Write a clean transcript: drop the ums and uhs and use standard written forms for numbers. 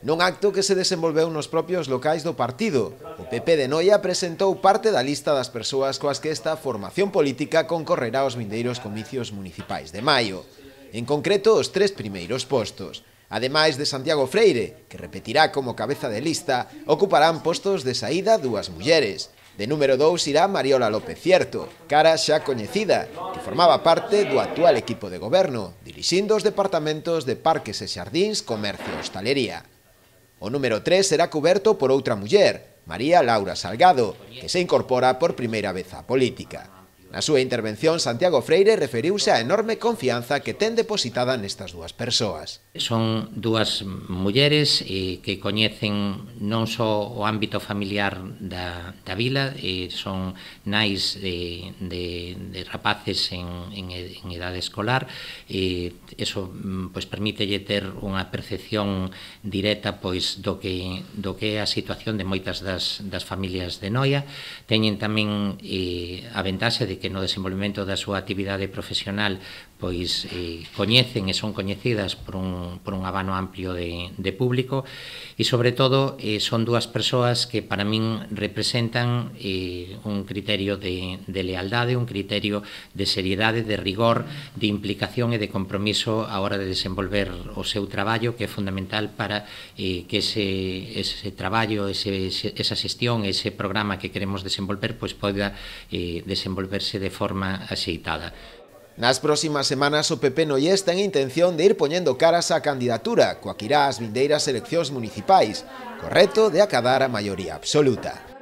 Nun acto que se desenvolveu nos propios locais do partido, o PP de Noia presentou parte da lista das persoas coas que esta formación política concorrerá aos vindeiros comicios municipais de maio. En concreto, os 3 primeiros postos. Ademais de Santiago Freire, que repetirá como cabeza de lista, ocuparán postos de saída 2 mulleres. De número 2 irá Mariola López Cierto, cara xa coñecida, que formaba parte do actual equipo de goberno, dirixindo os departamentos de Parques e Xardíns, Comercio e Hostalería. O número 3 será coberto por outra muller, María Laura Salgado, que se incorpora por primeira vez á política. Na súa intervención, Santiago Freire referiuse á enorme confianza que ten depositada nestas 2 persoas. Son 2 mulleres que coñecen non só o ámbito familiar da vila, son nais de rapaces en idade escolar, eso pois permítelle ter unha percepción directa pois do que é a situación de moitas das familias de Noia. Teñen tamén a ventaxe de que no desenvolvemento da súa actividade profesional pois coñecen e son coñecidas por un abano amplio de público e, sobre todo, son 2 persoas que para min representan un criterio de lealdade, un criterio de seriedade, de rigor, de implicación e de compromiso á hora de desenvolver o seu traballo, que é fundamental para que ese traballo, esa xestión, ese programa que queremos desenvolver, pois poida desenvolverse de forma axeitada. Nas próximas semanas o PP noiés ten intención de ir poñendo caras á candidatura, coa que irá ás vindeiras eleccións municipais, co reto de acadar a maioría absoluta.